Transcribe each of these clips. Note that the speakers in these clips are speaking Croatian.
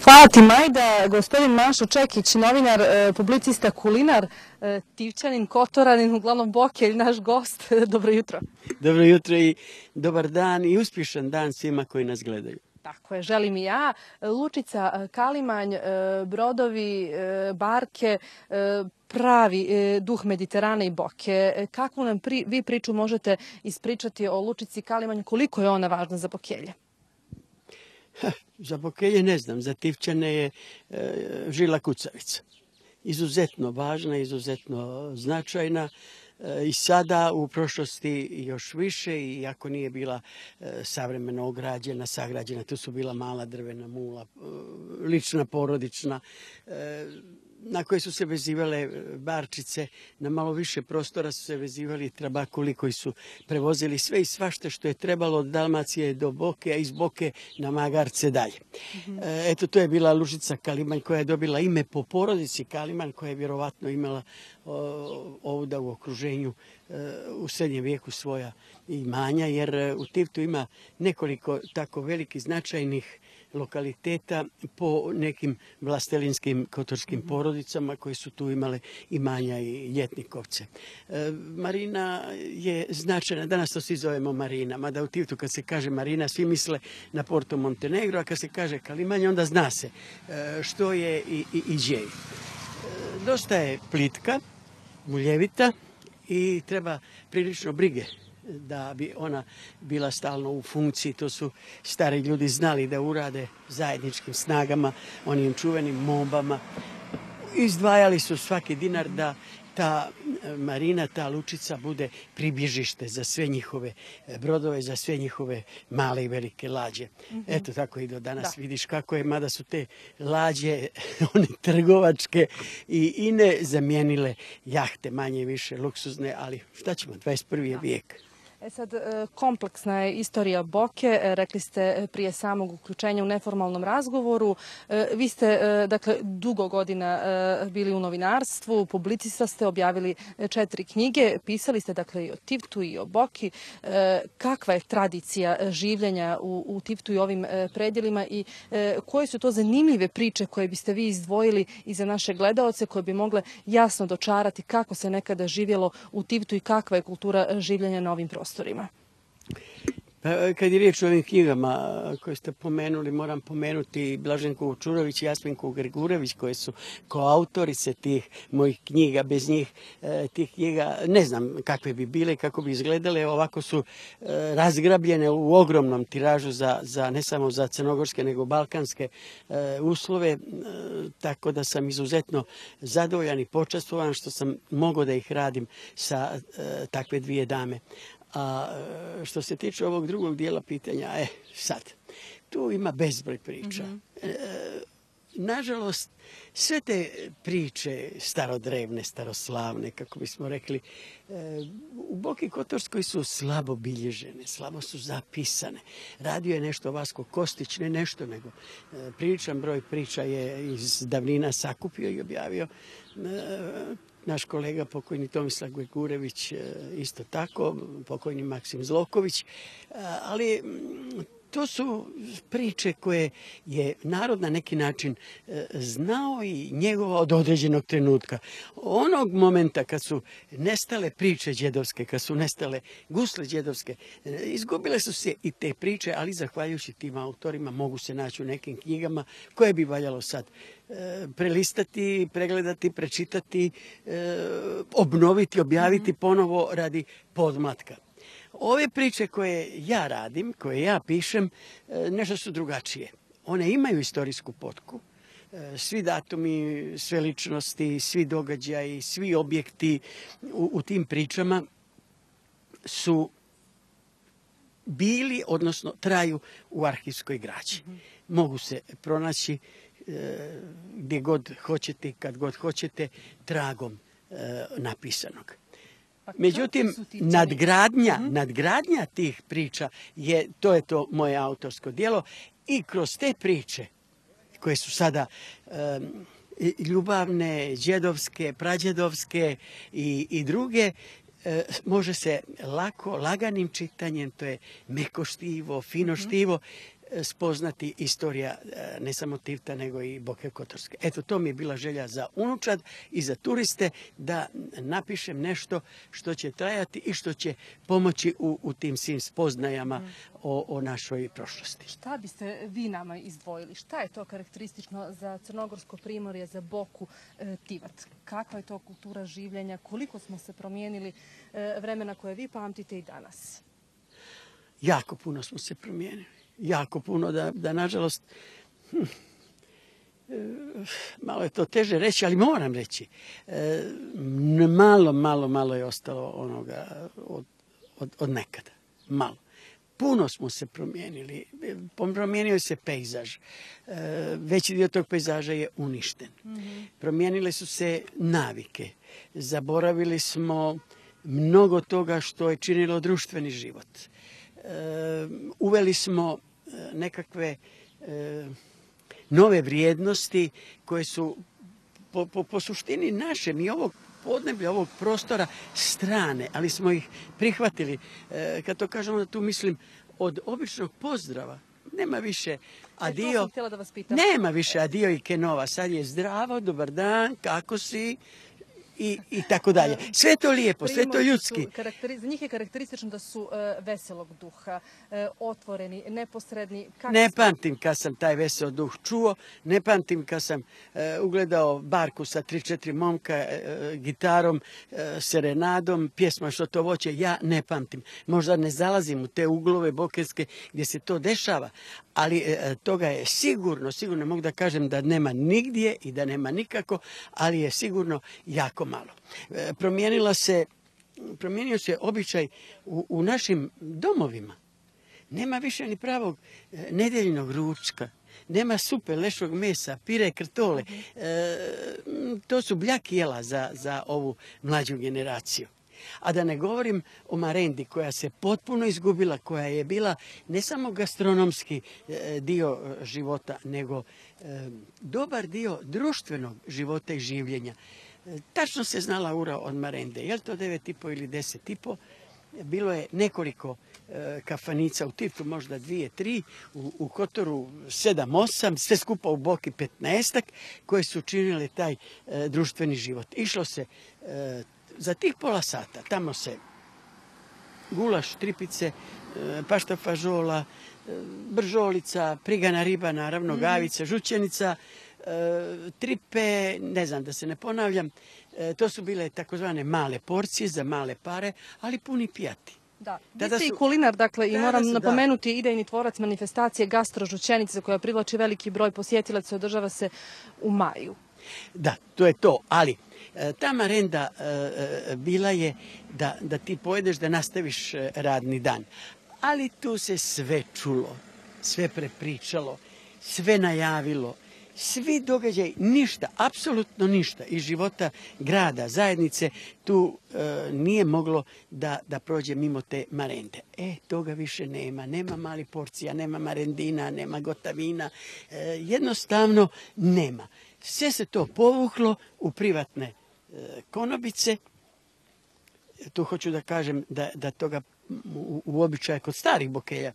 Hvala ti, Majda. Gospodin Mašo Čekić, novinar, publicista, kulinar, Tivčanin, Kotoranin, uglavnom Bokelj, naš gost. Dobro jutro. Dobro jutro i dobar dan i uspješan dan svima koji nas gledaju. Tako je, želim i ja. Lučica, Kalimanj, brodovi, barke, pravi duh Mediterana i Boke. Kakvu nam vi priču možete ispričati o Lučici Kalimanj? Koliko je ona važna za Bokelje? Za Bokelje ne znam, za Tivčane je žila kucavica. Izuzetno važna, izuzetno značajna. I sada u prošlosti još više, iako nije bila savremeno ograđena, sagrađena, tu su bila mala drvena mula, lična, porodična, na koje su se vezivale barčice, na malo više prostora su se vezivali trabakuli koji su prevozili sve i svašta što je trebalo od Dalmacije do Boke, a iz Boke na Magarce dalje. Eto, to je bila Lučica Kalimanj koja je dobila ime po porodici Kalimanj, koja je vjerovatno imala ovdje u okruženju u srednjem vijeku svoja imanja, jer u Tivtu ima nekoliko tako velikih značajnih lokaliteta po nekim vlastelinskim kotorskim porodicama koji su tu imale imanja i ljetnikovce. Marina je značajna, danas to svi zovemo Marina, mada u Tivtu kad se kaže Marina svi misle na Porto Montenegro, a kad se kaže Kalimanj onda zna se što je i gdje je. Dosta je plitka, muljevita i treba prilično brige da bi ona bila stalno u funkciji. To su stari ljudi znali da urade zajedničkim snagama, onim čuvenim mobama. Izdvajali su svaki dinar da ta marina, ta lučica bude pribježište za sve njihove brodove, za sve njihove male i velike lađe. Eto, tako i do danas vidiš kako je, mada su te lađe, one trgovačke i ine zamijenile jahte, manje i više luksuzne, ali šta ćemo, 21. je vijek. Sad, kompleksna je istorija Boke, rekli ste prije samog uključenja u neformalnom razgovoru. Vi ste, dakle, dugo godina bili u novinarstvu, publicista ste, objavili 4 knjige, pisali ste, dakle, i o Tivtu i o Boki. Kakva je tradicija življenja u Tivtu i ovim predjelima i koje su to zanimljive priče koje biste vi izdvojili i za naše gledaoce, koje bi mogle jasno dočarati kako se nekada živjelo u Tivtu i kakva je kultura življenja na ovim prostorima? Kad je riječ o ovim knjigama koje ste pomenuli, moram pomenuti Blaženku Čurović i Jasminku Grgurević, koje su koautorice tih mojih knjiga. Bez njih tih knjiga ne znam kakve bi bile, kako bi izgledale. Ovako su razgrabljene u ogromnom tiražu za ne samo za crnogorske nego balkanske uslove, tako da sam izuzetno zadovoljan i počastvovan što sam mogao da ih radim sa takve dvije dame. A što se tiče ovog drugog dijela pitanja, sad, tu ima bezbroj priča. Nažalost, sve te priče starodrevne, staroslavne, kako bismo rekli, u Boki Kotorskoj su slabo bilježene, slabo su zapisane. Radio je nešto Vasko Kostić, ne nešto, nego priličan broj priča je iz davnina sakupio i objavio. Naš kolega pokojni Tomislav Grgurević isto tako, pokojni Maksim Zloković, ali to su priče koje je narod na neki način znao i njegovao od određenog trenutka. Onog momenta kad su nestale priče đedovske, kad su nestale gusle đedovske, izgubile su se i te priče, ali zahvaljujući tim autorima mogu se naći u nekim knjigama koje bi valjalo sad prelistati, pregledati, prečitati, obnoviti, objaviti ponovo radi podmlatka. Ove priče koje ja radim, koje ja pišem, nešto su drugačije. One imaju istorijsku potku. Svi datumi, sve ličnosti, svi događaji, svi objekti u tim pričama su bili, odnosno traju u arhivskoj građi. Mogu se pronaći gdje god hoćete, kad god hoćete, tragom napisanog. Međutim, nadgradnja tih priča to je to moje autorsko djelo i kroz te priče koje su sada ljubavne, đedovske, prađedovske i druge, može se lako, laganim čitanjem, to je meko štivo, fino štivo, spoznati istorija ne samo Tivta nego i Boke Kotorske. Eto, to mi je bila želja za unučad i za turiste da napišem nešto što će trajati i što će pomoći u tim svim spoznajama o našoj prošlosti. Šta biste vi nama izdvojili? Šta je to karakteristično za Crnogorsko primorje, za Boku Tivat? Kakva je to kultura življenja? Koliko smo se promijenili vremena koje vi pamtite i danas? Jako puno smo se promijenili. Jako puno da nažalost, malo je to teže reći, ali moram reći, malo je ostalo onoga od nekada. Malo. Puno smo se promijenili. Promijenio se pejzaž. Veći dio tog pejzaža je uništen. Promijenile su se navike. Zaboravili smo mnogo toga što je činilo društveni život. Uveli smo nekakve nove vrijednosti koje su po suštini našem i ovog podneblja, ovog prostora strane, ali smo ih prihvatili. Kad to kažemo, da tu mislim od običnog pozdrava. Nema više adio. To sam htjela da vas pitam. Nema više adio i kenova. Sad je zdravo, dobar dan, kako si? I tako dalje. Sve je to lijepo, sve je to ljudski. Za njih je karakteristično da su veselog duha, otvoreni, neposredni. Ne pamtim kad sam taj vesel duh čuo, ne pamtim kad sam ugledao barku sa 3-4 momka, gitarom, serenadom, pjesma Što to voće, ja ne pamtim. Možda ne zalazim u te uglove bokerske gdje se to dešava, ali toga je sigurno mogu da kažem da nema nigdje i da nema nikako, ali je sigurno jako malo. Promijenio se običaj u našim domovima. Nema više ni pravog nedeljnog ručka. Nema supe, lešog mesa, pire, krtole. To su bljaki jela za ovu mlađu generaciju. A da ne govorim o marendi koja se potpuno izgubila, koja je bila ne samo gastronomski dio života, nego dobar dio društvenog života i življenja. Tačno se znala ura od marende. Je li to 9,5 ili 10,5? Bilo je nekoliko kafanica u Tivtu, možda 2-3, u Kotoru 7-8, sve skupa u Boki 15-ak, koje su činile taj društveni život. Išlo se za tih pola sata, tamo se gulaš, tripice, pašta fažola, bržolica, prigana riba, naravno, gavica, žućenica, tripe, ne znam da se ne ponavljam, to su bile takozvane male porcije za male pare, ali puni pijati. Da, vi ste i kulinar, dakle, i moram napomenuti idejni tvorac manifestacije Gastrožućenica koja privlači veliki broj posjetilaca, održava se u maju. Da, to je to, ali ta marenda bila je da ti pojedeš da nastaviš radni dan. Ali tu se sve čulo, sve prepričalo, sve najavilo, svi događaj, ništa, apsolutno ništa iz života grada, zajednice, tu nije moglo da prođe mimo te marende. Toga više nema. Nema malih porcija, nema marendina, nema gotavina. Jednostavno nema. Sve se to povuklo u privatne konobice. Tu hoću da kažem da toga u običaju kod starih bokelja,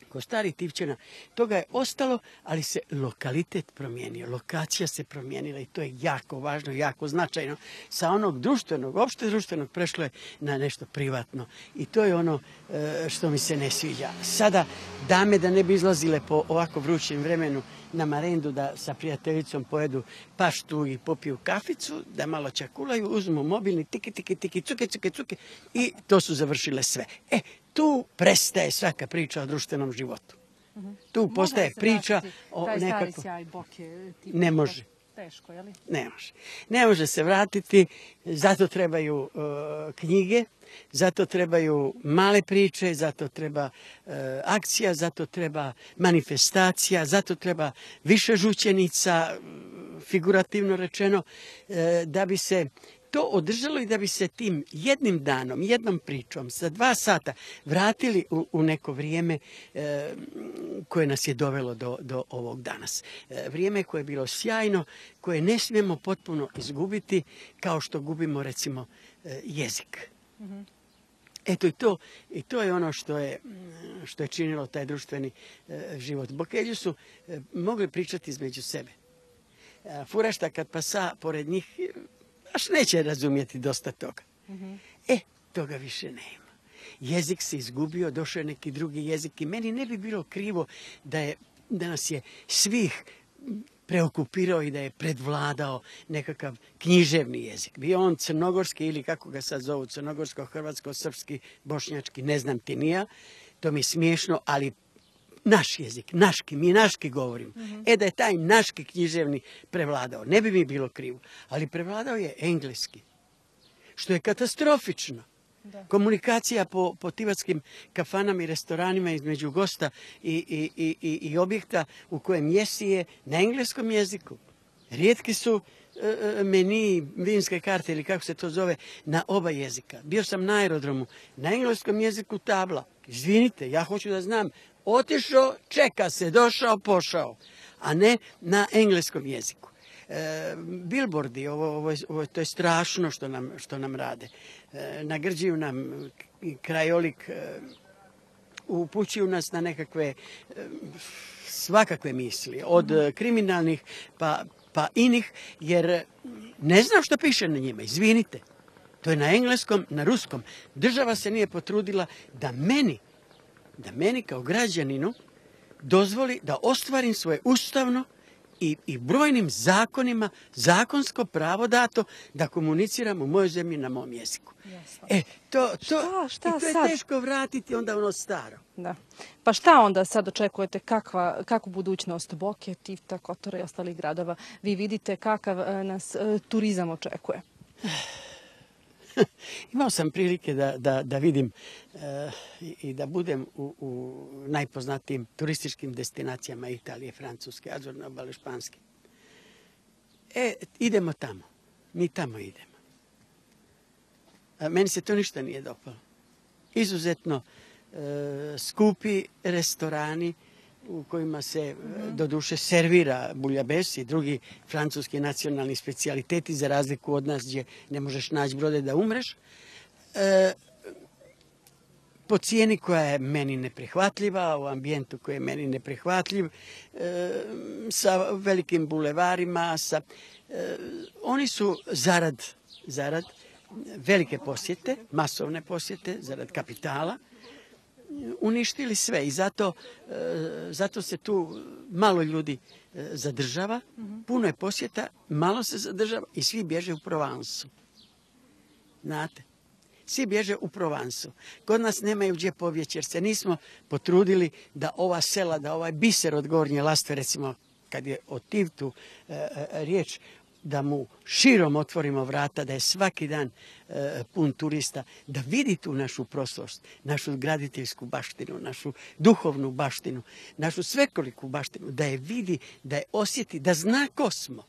kod starih Tivčana, toga je ostalo, ali se lokalitet promijenio, lokacija se promijenila i to je jako važno, jako značajno. Sa onog društvenog, opšte društvenog prešlo je na nešto privatno i to je ono što mi se ne sviđa. Sada dame da ne bi izlazile po ovako vrućem vremenu na marendu da sa prijateljicom pojedu paštu i popiju kaficu, da malo čakulaju, uzmu mobilni, tiki, cuke i to su završile sve. Tu prestaje svaka priča o društvenom životu. Tu postaje priča o nekakvom... Ne može. Teško, je li? Ne može. Ne može se vratiti, zato trebaju knjige, zato trebaju male priče, zato treba akcija, zato treba manifestacija, zato treba više žućenica, figurativno rečeno, da bi se to održalo i da bi se tim jednim danom, jednom pričom, sa 2 sata vratili u neko vrijeme koje nas je dovelo do ovog danas. Vrijeme koje je bilo sjajno, koje ne smijemo potpuno izgubiti, kao što gubimo, recimo, jezik. Eto i to je ono što je činilo taj društveni život. Bokelji su mogli pričati između sebe. Furašta kad pasa pored njih, baš neće razumjeti dosta toga. Toga više nema. Jezik se izgubio, došao je neki drugi jezik i meni ne bi bilo krivo da nas je svih preokupirao i da je predvladao nekakav književni jezik. Bio on crnogorski ili kako ga sad zovu, crnogorsko, hrvatsko, srpski, bošnjački, ne znam ti ni ja. To mi je smiješno, ali naš jezik, naški, mi naški govorimo. Da je taj naški književni prevladao, ne bi mi bilo krivo. Ali prevladao je engleski, što je katastrofično. Komunikacija po tivatskim kafanama i restoranima između gosta i objekta u kojem jesi je na engleskom jeziku. Rijetki su meni, vinske karte ili kako se to zove, na oba jezika. Bio sam na aerodromu, na engleskom jeziku tabla. Izvinite, ja hoću da znam, otišao, čeka se, došao, pošao, a ne na engleskom jeziku. Billboardi, to je strašno što nam rade. Nagrđuju nam krajolik, upućuju nas na nekakve svakakve misli, od kriminalnih pa inih, jer ne znam što piše na njima, izvinite. To je na engleskom, na ruskom. Država se nije potrudila da meni kao građaninu dozvoli da ostvarim svoje ustavno i brojnim zakonima zakonsko pravo dato da komuniciram u mojoj zemlji na mom jeziku. To je teško vratiti onda ono staro. Da. Pa šta onda sad očekujete, kakvu budućnost Boke, Tivta, Kotora i ostalih gradova? Vi vidite kakav nas turizam očekuje? Imao sam prilike da vidim i da budem u najpoznatijim turističkim destinacijama Italije, Francuske, Azorne obale, Španske. Idemo tamo. Mi tamo idemo. Meni se to ništa nije dopalo. Izuzetno skupi restorani u kojima se doduše servira buljabes i drugi francuski nacionalni specijaliteti za razliku od nas gdje ne možeš naći brode da umreš. Po cijeni koja je meni neprihvatljiva, u ambijentu koji je meni neprihvatljiv, sa velikim bulevarima, oni su zarad velike posjete, masovne posjete, zarad kapitala, uništili sve i zato se tu malo ljudi zadržava, puno je posjeta, malo se zadržava i svi bježe u Provansu. Znate, svi bježe u Provansu. Kod nas nemaju gdje pobjeći jer se nismo potrudili da ova sela, da ovaj biser od Gornje Lastve, recimo kad je o Tivtu riječ, da mu širom otvorimo vrata, da je svaki dan pun turista, da vidi tu našu prošlost, našu graditeljsku baštinu, našu duhovnu baštinu, našu svekoliku baštinu, da je vidi, da je osjeti, da zna ko smo.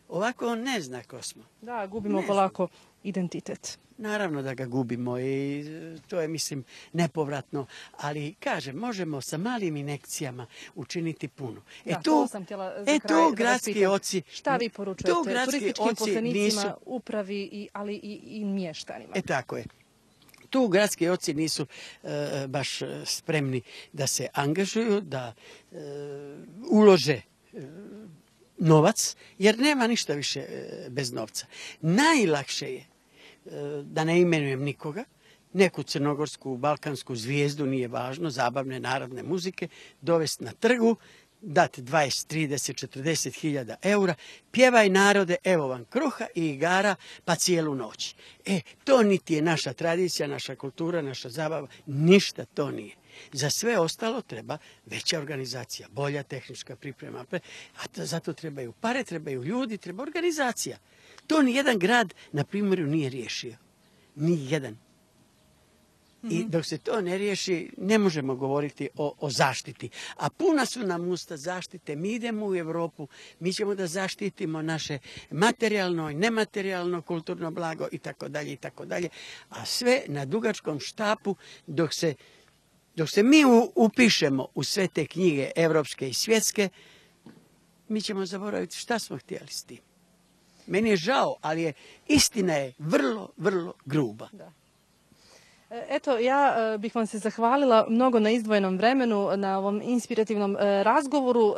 Ovako on ne zna ko smo. Da, gubimo polako identitet. Naravno da ga gubimo i to je, mislim, nepovratno, ali kažem, možemo sa malim injekcijama učiniti puno. To sam htjela za kraj da vas pitam. Šta vi poručujete turističkim poslenicima, upravi, ali i mještanima? Tako je. Tu gradski oci nisu baš spremni da se angažuju, da ulože novac, jer nema ništa više bez novca. Najlakše je, da ne imenujem nikoga, neku crnogorsku, balkansku zvijezdu, nije važno, zabavne narodne muzike, dovesti na trgu, dati 20, 30, 40 hiljada eura, pjevaj narode, evo vam kruha i igara, pa cijelu noć. To niti je naša tradicija, naša kultura, naša zabava, ništa to nije. Za sve ostalo treba veća organizacija, bolja tehnička priprema, a zato trebaju pare, trebaju ljudi, treba organizacija. To nijedan grad na primjeru nije riješio. Nijedan. I dok se to ne riješi, ne možemo govoriti o zaštiti. A puna su nam usta zaštite. Mi idemo u Europu, mi ćemo da zaštitimo naše materijalno i nematerijalno kulturno blago i tako dalje i tako dalje. A sve na dugačkom štapu dok se mi upišemo u sve te knjige evropske i svjetske, mi ćemo zaboraviti šta smo htjeli s tim. Meni je žao, ali istina je vrlo, vrlo gruba. Da. Eto, ja bih vam se zahvalila mnogo na izdvojenom vremenu, na ovom inspirativnom razgovoru.